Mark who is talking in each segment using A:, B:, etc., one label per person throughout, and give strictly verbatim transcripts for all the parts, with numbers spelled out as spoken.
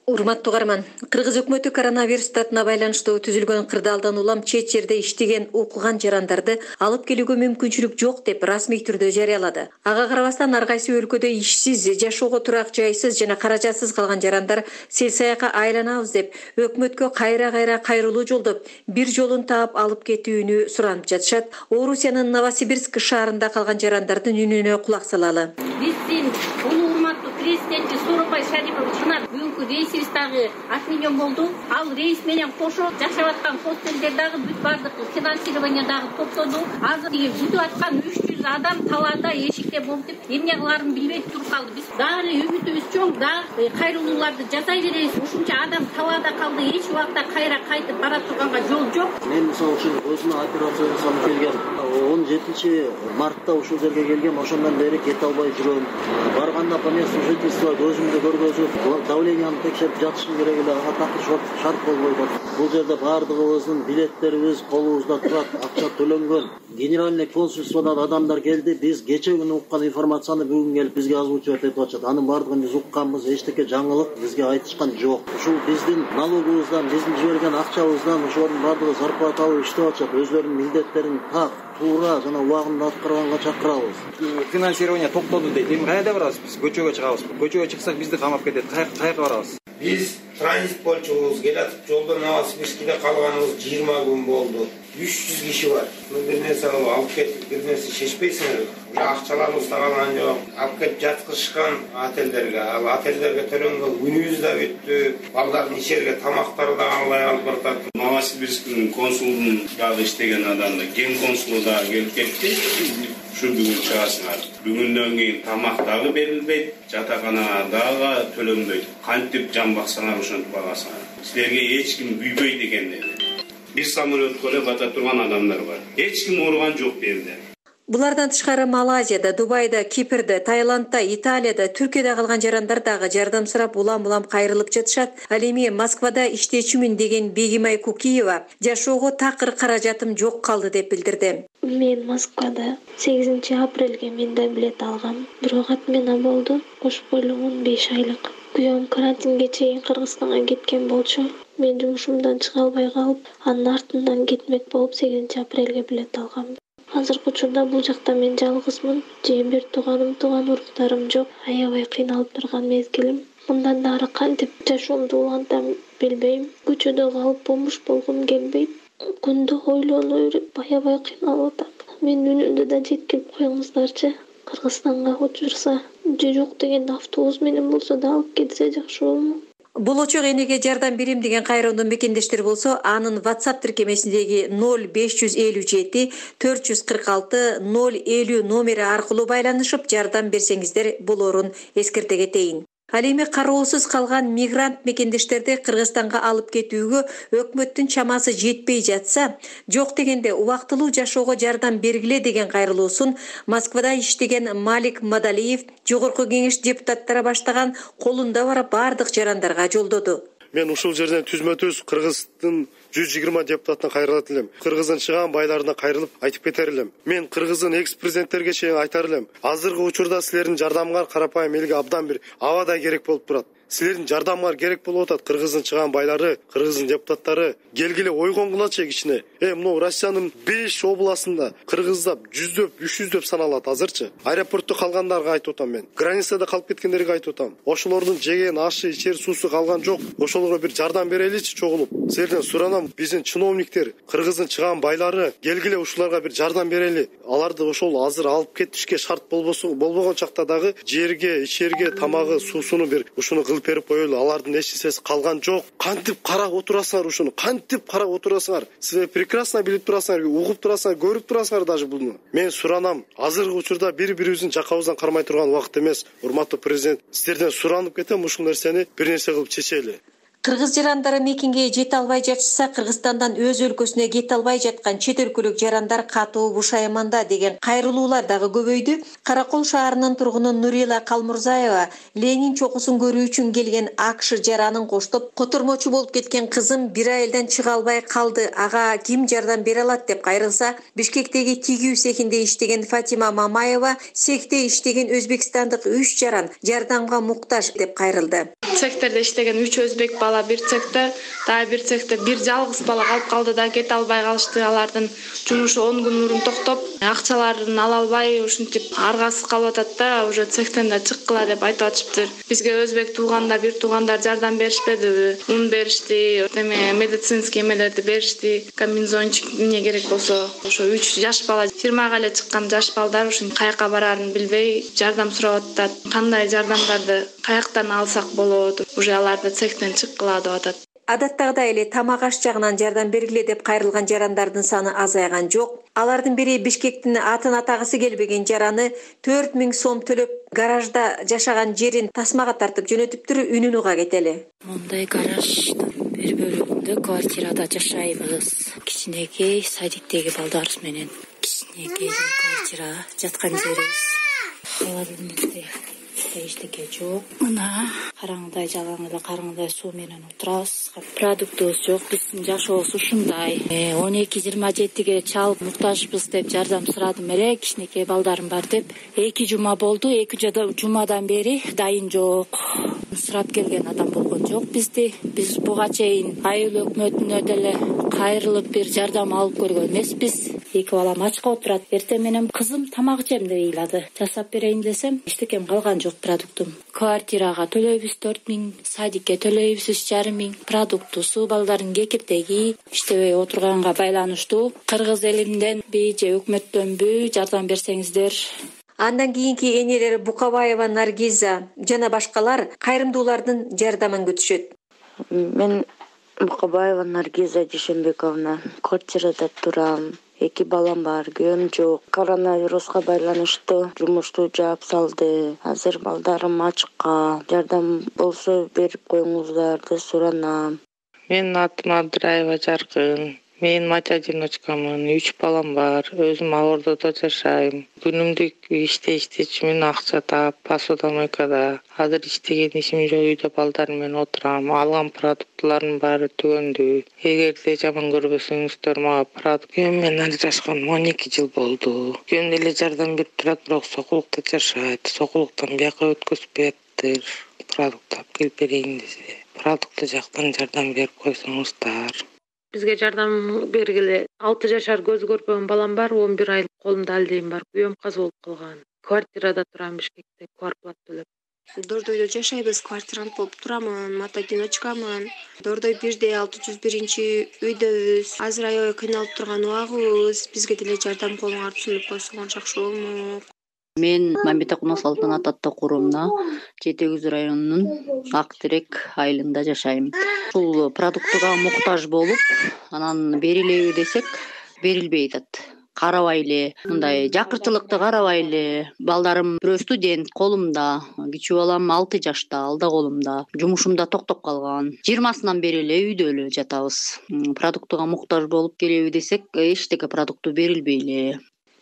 A: Урматтуу угарман, Кыргыз өкмөтү коронавирус татына байланыштуу түзүлгөн кырдаалдан улам чет жерде иштеген укуган жарандарды алып келүүгө мүмкүнчүлүк жок деп расмий түрдө жарыялады. Ага карабастан ар кайсы өлкөдө ишсиз, жашоого турак жайсыз жана каражатсыз калган жарандар сел саякка айланабыз деп өкмөткө кайра-кайра кайрылуу жолдоп, бир жолун таап алып кетүүнү суранып жатышат. Орусиянын Новосибирск шаарында калган жарандардын үнүнө кулак салалы.
B: Биздин урматтуу президенти Сооронбай Шариповична бүгүнкү рейсибиз дагы отменен болду. Ал рейс менен кошо жашап аткан хостелдер дагы бүт баардык финансирование дагы токтоду. Азыр бүтүп аткан үч жүз адам талаада эшикте болуп деп эмне кылаарын билбей туруп калды. Биз дагы үмүтүбүз чоң, дагы кайрылууларды жасай беребиз. Ушунча адам талаада калды, эч убакта кайра кайтып бара турганга жол жок.
C: Мен мисалы үчүн өзүмө операция жасалып келгем. он жетинчи мартта ушул жерге келгем, ошондон бери кете албай жүрөм. Барганда по месту жительства өзүмдү көргөзүп, давленияны текшерип жатышым керек эле, ага такыр шарт болбой атат. Бул жерде баардыгыбыздын билеттерибиз колубузда турат, акча төлөнгөн. Генеральный консульстводан адамдар келди, биз кече күнү уккан информацияны бүгүн келип бизге озвучивать этип атышат. Анын баардыгын биз укканбыз, эчтеке жаңылык бизге айтышкан жок. Ушул биздин налогубуздан, биздин жиберген акчабыздан ошолордун баардыгы зарплата алып иштеп атышат. Өзлөрүнүн милдеттерин так, туура жана убагында аткарганга чакырабыз.
D: Финансирование токтоду дейт. Эми кайда барабыз биз? Көчөгө чыгабызбы? Көчөгө чыксак бизди камап кетет. Каяка барабыз?
E: Биз транзит болчубуз, келатып жолдо Новосибирскиде калганыбыз жыйырма күн болду. үч жүз киши бар. Бир нерсе алып кетип, бир нерсе шешпейсиңер. Уже акчаларыбыз да калган жок. Алып кетип жаткызышкан отелдерге. Ал отелдерге төлөнгөн күнүбүз да бүттү. Балдардын ичерге тамактары да албай калып баратат.
F: Новосибирскинин консулунун дагы иштеген адамы, ген консулу дагы келип кетти. Ушул бүгүн чыгасыңар. Бүгүндөн кийин тамак дагы берилбейт, жатаканага дагы төлөнбөйт. Кантип жан баксаңар ошентип багасыңар. Силерге эч ким күйбөйт экен деди. Бир самолетко эле бата турган адамдар бар. Эч ким ооруган жок берди.
A: Булардан тышкары Малайзияда, Дубайда, Кипрде, Таиландда, Италияда, Түркияда калган жарандар дагы жардам сурап улам-улам кайрылып жатышат. Ал эми Москвада иштечүмүн деген Бегимай Кукиева жашоого такыр каражатым жок калды деп билдирди.
G: Мен Москвада сегизинчи апрелге мен да билет алгам. Бирок отмена болду. Кошуп коюлган он беш айлык. Күйөөм карантинге чейин Кыргызстанга кеткен болчу. Мен жумушумдан чыга албай калып, анын артынан кетмек болуп сегизинчи апрелге билет алгам. Азыркы учурда бул жакта мен жалгызмын. Жем бир тууганым, тууган уруктарым жок. Аябай кыйналып турган мезгилим. Мындан да ары кантип жашоомду улантам билбейм. Көчөдө калып бомуш болгум келбейт. Күндү ойлонуй берип аябай кыйналып атам. Менин үнүмдү да жеткирип коюңуздарчы. Кыргызстанга учурса, же жок дегенде автобус менен болсо да алып кетсе жакшы болмок.
A: Болочок энеге жардам берем деген кайрылуунун мекендештери болсо, анын WhatsApp тиркемесиндеги ноль беш жүз элүү жети төрт жүз кырк алты ноль элүү номери аркылуу байланышып жардам берсеңиздер болорун эскерте кетейин. Ал эми кароосуз калган мигрант мекендештерди Кыргызстанга алып кетүүгө өкмөттүн чамасы жетпей жатса, жок дегенде убактылуу жашоого жардам бергиле деген кайрылуусун Москвада иштеген Малик Мадалиев Жогорку кеңеш депутаттары баштаган колунда бар бардык жарандарга жолдоду.
H: Мен ушул жерден түзмө-түз Кыргыздын жүз жыйырма депутатына кайрылат элем. Кыргыздын чыган байларына кайрылып айтып кетер элем. Мен Кыргыздын экс-президенттерге чейин айтар элем. Азыркы учурда силердин жардамыңар карапайым элге абдан бир абадай керек болуп турат. Силердин жардамыңар керек болуп атат. Кыргыздын чыган байлары, Кыргыздын депутаттары келгиле ойгонгулачы кичине. Э, мына Россиянын беш областында кыргыздар жүздөп, үч жүздөп саналат азырчы. Аэропортто калгандарга айтып атам мен. Границада калып кеткендерге айтып атам. Ошолордун жеген ашы, ичер суусу калган жок. Ошолорго бир жардам береличи чогулуп. Силерден суранам, биздин чиновниктер, Кыргыздын чыган байлары келгиле ушуларга бир жардам берели. Аларды ошол азыр алып кетишке шарт болбосо, болбогон чакта дагы жерге, ичерге, тамагы, суусуну бир ушуну кылып берип коелу. Алардын эч нерсеси калган жок. Кантип карап отурасыңар ушуну? Кантип карап отурасыңар? Силер прекрасно билип турасыңар, угуп турасыңар, көрүп турасыңар даже буну. Мен суранам, азыркы учурда бири-бирибиздин жакабыздан кармай турган убакыт эмес. Урматтуу президент, силерден суранып кетем, ушул нерсени бир нерсе кылып чечели.
A: Кыргыз жарандары мекенге жете албай жатышса, Кыргызстандан өз өлкөсүнө кете албай жаткан чет өлкөлүк жарандар катуу бушайманда деген кайрылуулар дагы көбөйдү. Каракол шаарынын тургуну Нурила Калмурзаева Ленин чокусун көрүү үчүн келген АКШ жаранын коштоп, котормочу болуп кеткен кызым бир айылдан чыга албай калды. Ага ким жардам бере алат деп кайрылса, Бишкектеги тигүү цехинде иштеген Фатима Мамаева цехте иштеген өзбекстандык үч жаран жардамга муктаж деп кайрылды.
I: Цехтерде иштеген үч өзбек бала бир цехте, дагы бир цехте бир жалгыз бала калып калды да кете албай калышты. Алардын жумушу он күн мурун токтоп, акчаларын ала албай ушинтип аргасы калып атат да, уже цехтен да чыккыла деп айтып атышыптыр. Бизге өзбек туугандар, бир туугандар жардам беришпедиби? Ун беришти, эме медицинский эмелерди беришти, комбинезончик эмне керек болсо. Ошо үч жаш бала, жыйырмага эле чыккан жаш балдар ушин каяка барарын билбей жардам сурап атат. Кандай жардамдарды каяктан алсак болот? Уже аларды цехтен чыккыла деп атат.
A: Адаттагыдай эле тамак аш жагынан жардам бергиле деп кайрылган жарандардын саны азайган жок. Алардын бири Бишкектин атын атагысы келбеген жараны төрт миң сом төлөп гаражда жашаган жерин тасмага тартып жөнөтүптүр, үнүн уга кетели.
J: Мондай гараждын бир бөлүгүндө квартирада жашайбыз. Кичинекей садиктеги балдарыбыз менен кичинекей квартира жаткан жерибиз. Алардын эчтеке жок. Мына караңгыдай жалаң эле караңгыдай суу менен отурабыз. Продуктубуз жок, биздин жашообуз ушундай. он эки жыйырма жетиге чалып муктажбыз деп жардам сурадым эле, кичинекей балдарым бар деп. эки жума болду, эки жумадан бери дайын жок. Сурап келген адам болгон жок бизди. Биз буга чейин айыл өкмөтүнө деле кайрылып бир жардам алып көргөн эмеспиз. Эки балам ачка отурат. Эртең менен кызым тамак жем деп ыйлады. Жасап берейин десем, эчтекем калган жок продуктум. Квартирага төлөйбүз төрт миң, садикке төлөйбүз үч жарым миң, продукту, суу балдардын кекиртеги, иштебей отурганга байланыштуу. Кыргыз элинденби же өкмөттөнбү жардам берсеңиздер.
A: Андан кийинки энелери Букабаева Наргиза жана башкалар кайрымдуулардын жардамын күтүшөт.
K: Мен Букабаева Наргиза Дүйшөнбековна, квартирада турам. Эки балам бар, күйөөм жок. Коронавируска байланыштуу жумушту жаап салды. Азыр балдарым ачка. Жардам болсо берип коюңуздар деп суранам.
L: Менин атым Абдыраева Жаркын. Мен мать-одиночкамын, үч балам бар. Өзүм Ордодо жашайм. Күнүмдүк иште иштечимин, акча таап, посудомойкада. Азыр иштеген ишим жок, үйдө балдарым менен отурам. Алган продуктларым баары түгөндү. Эгерде жаман көрбөсөңүздөр, мага продукт күйөөм менен ажырашкан он эки жыл болду. Күйөөм деле жардам берип турат, бирок сокулукта жашайт. Сокулуктан бияка өткөзүп бериптир. Продукт алып келип берейин десе. Продукты жактан жардам берип койсоңуздар.
M: Бизге жардам бергиле. алты жашар көз көрбөгөн балам бар, он бир айлык колумда алдейм бар. Күйөөм каза болуп калган. Квартирада турам Бишкекте, квартплат төлөп.
N: Дордойдо жашайбыз, квартирант болуп турамын, мать-одиночкамын. Дордой бирде алты жүз биринчи үйдөбүз. Азыр аябай кыйналып турган убагыбыз. Бизге деле жардам колуңарды сунуп койсоңор жакшы болмок.
O: Мен Мамбетакунов Салтанат ата курумуна Жети Көз районунун Ак Терек айылында жашайм. Ушул продуктуга муктаж болуп, анан берилеби десек, берилбей атат. Карабай эле, мындай жакырчылыкты карабай эле. Балдарым бирөө студент, колумда, кичүү балам алты жашта, алда колумда. Жумушум да токтоп калган. жыйырмасынан бери эле үйдө эле жатабыз. Продуктуга муктаж болуп келеби десек, эчтеке продукту берилбей эле.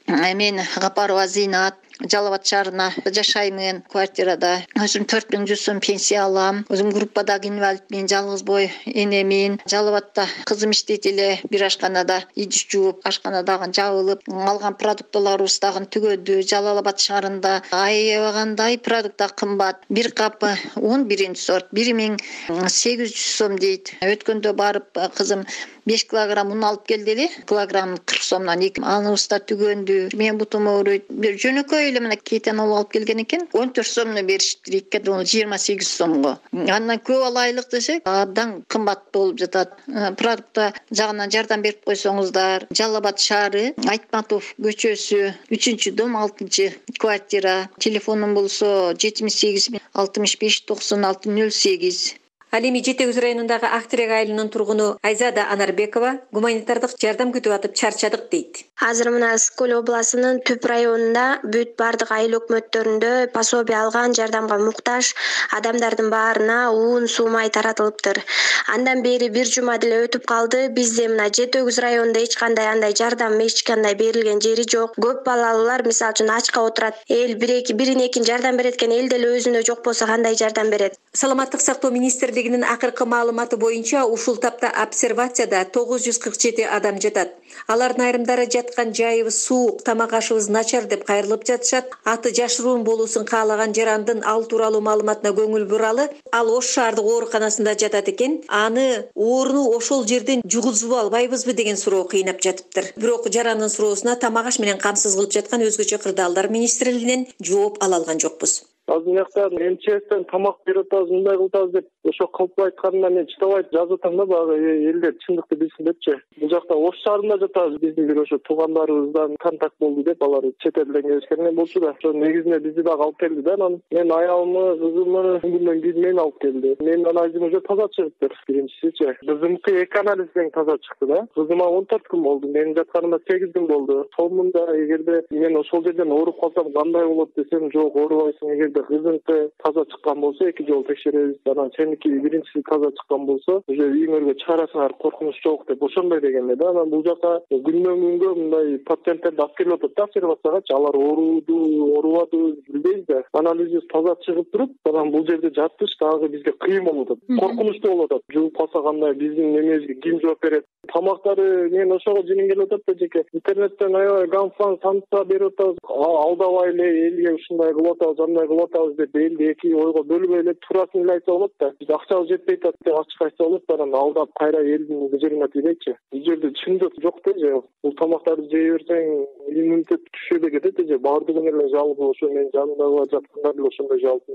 P: Мен Гапарова Зинат, Жалал Абад шаарына жашаймын, квартирада. Өзүм төрт миң жүз сом пенсия алам. Өзүм группадагы инвалидмин, жалгыз бой энемин. Жалал Абадта кызым иштейт эле, бир ашканада идиш жууп, ашканадагы жабылып, алган продуктларыбыз дагы түгөдү. Жалал Абад шаарында аябагандай продукт кымбат. Бир капы он биринчи сорт бир миң сегиз жүз сом дейт. Өткөндө барып кызым беш килограмм un алып келди эле. Килограмм кырк сомдон эки. Аныбыз да түгөндү. Мен бутум ооруйт. Бир жөнөкөй эле мына кейтен алып келген экен. он төрт сомдон беришти. Эки жыйырма сегиз сомго. Андан көп алайлык десек, абдан кымбат болуп жатат. Продукта жагынан жардам берип койсоңуздар. Жалал Абад шаары, Айтматов көчөсү, үчүнчү дом, алтынчы квартира. Телефонум болсо жетимиш сегиз алтымыш беш токсон алты нөл сегиз.
A: Ал эми жети өгүз районундагы Ак Терек айылынын тургуну Айзада Анарбекова гуманитардык жардам күтүп атып чарчадык дейт.
N: Азыр мына Скөл областынын түп районунда бүт бардык айыл өкмөттөрүндө пособие алган жардамга муктаж адамдардын баарына уун суу май таратылыптыр. Андан бери бир жума деле өтүп калды. Бизде мына жети өгүз районунда эч кандай андай жардам, эч кандай берилген жери жок. Көп балалуулар мисалы үчүн ачка отурат. Эл бир эки бирин экин жардам берет экен, эл деле өзүнө жок болсо кандай жардам берет?
A: Саламаттык сактоо министрлигинин акыркы маалыматы боюнча ушул тапта обсервацияда тогуз жүз кырк жети адам жатат. Алардын айрымдары жаткан жайыбыз суук, тамак ашыбыз начар деп кайрылып жатышат. Аты жашыруун болуусун каалаган жарандын ал тууралуу маалыматына көңүл буралы. Ал Ош шаардык ооруканасында жатат экен. Аны ооруну ошол жерден жугузуп албайбызбы деген суроо кыйнап жатыптыр. Бирок жарандын суроосуна тамак аш менен камсыз кылып жаткан өзгөчө кырдаалдар министрлигинен жооп ала алган жокпуз.
Q: Азыр жакта эм че эстен тамак берип атабыз, мындай кылып атабыз деп ошо кылып айтканына мен чыдабай жазып атам да, баягы элдер чындыкты билсин депчи. Бул жакта Ош шаарында жатабыз. Биздин бир ошо туугандарыбыздан контакт болду деп алар чет элден келишкен болчу да. Ошо негизинде бизди дагы алып келди да. Анан мен аялымы, кызымы күндөн кийин мени алып келди. Менин анализим уже таза чыгыптыр. Биринчисичи. Кызымдыкы эки анализден таза чыкты да. Кызыма он төрт күн болду. Менин жатканыма сегиз күн болду. Сонунда эгерде мен ошол жерден ооруп калсам кандай болот десем, жок, оорубайсың. Эгерде кызыңкы таза чыккан болсо эки жолу текшеребиз. Анан сеники биринчиси таза чыккан болсо уже үйүңөргө чыгарасыңар, коркунуч жок деп ошондой дегенде да. Анан бул жака күндөн күнгө мындай пациенттерди алып келип атат да обсервациягачы. Алар ооруду, оорубадыбы билбейбиз да. Анализибиз таза чыгып туруп, анан бул жерде жатыш дагы бизге кыйын болуп атат. Коркунучтуу болуп атат. Жугуп калса кандай, биздин немебизге ким жооп берет? Тамактары мен ошого жиним келип атат да, жеке интернеттен аябай ганфан, санса берип атабыз. Алдабай эле элге ушундай кылып атабыз, андай кылып атабыз деп элди эки ойго бөлбөй эле туурасын эле айтса болот да. Биз акчабыз жетпей атат деп ачык айтса болот, анан алдап кайра элдин кыжырына тийбейчи. Бул жерде чындык жок да же. Бул тамактарды жей берсең иммунитет түшүп кетет же. Баардыгын эле жалпы ошо мен жанымдагы жаткандар эле ошондой жалпы.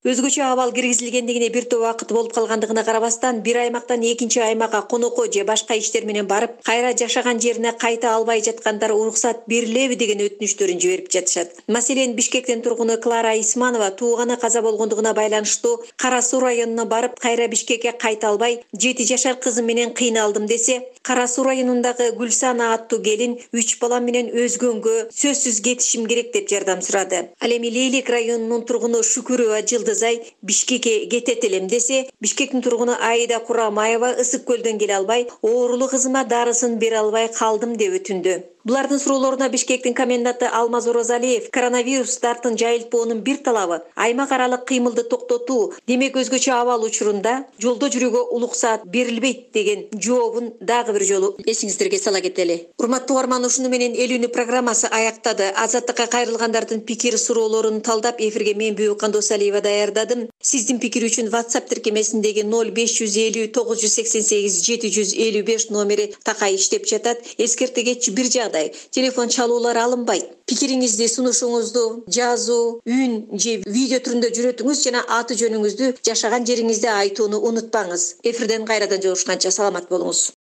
A: Өзгөчө абал киргизилгендигине бир топ убакыт болуп калгандыгына карабастан, бир аймактан экинчи аймакка конокко же башка иштер менен барып, кайра жашаган жерине кайта албай жаткандар уруксат берилеби деген өтүнүчтөрүн жиберип жатышат. Маселен, Бишкектин тургуну Клара Исманова тууганы каза болгондугуна байланыштуу Кара Суу районуна барып, кайра Бишкекке кайта албай, жети жашар кызым менен кыйналдым десе, Кара Суу районундагы Гүлсана аттуу келин үч балам менен өзгөнгө сөзсүз кетишим керек деп жардам сурады. Ал эми Лейлик районунун тургуну Шүкүрова Жылдызай Бишкекке кетет элем десе, Бишкектин тургуну Аида Курамаева Ысык көлдөн келе албай, оорулуу кызыма дарысын бере албай калдым деп өтүндү. Булардын суроолоруна Бишкектин коменданты Алмаз Орозалиев коронавирус дартын жайылтпоонун бир талабы аймак аралык кыймылды токтотуу, демек өзгөчө абал учурунда жолдо жүрүүгө улуксаат берилбейт деген жообун дагы бир жолу эсиңиздерге сала кетели. Урматтуу угарман, ушуну менен элүүнү программасы аяктады. Азаттыкка кайрылгандардын пикир суроолорун талдап эфирге мен Бүбү Кандосалиева даярдадым. Сиздин пикир үчүн WhatsApp тиркемесиндеги ноль беш жүз элүү тогуз жүз сексен сегиз жети жүз элүү беш номери такай иштеп жатат. Эскерте кетчү бир жагдай телефон чалуулар алынбайт. Пикириңизди, сунушуңузду жазуу, үн же видео түрүндө жүрөтүңүз жана аты жөнүңүздү, жашаган жериңизди айтууну унутпаңыз. Эфирден кайрадан жолугушканча саламат болуңуз.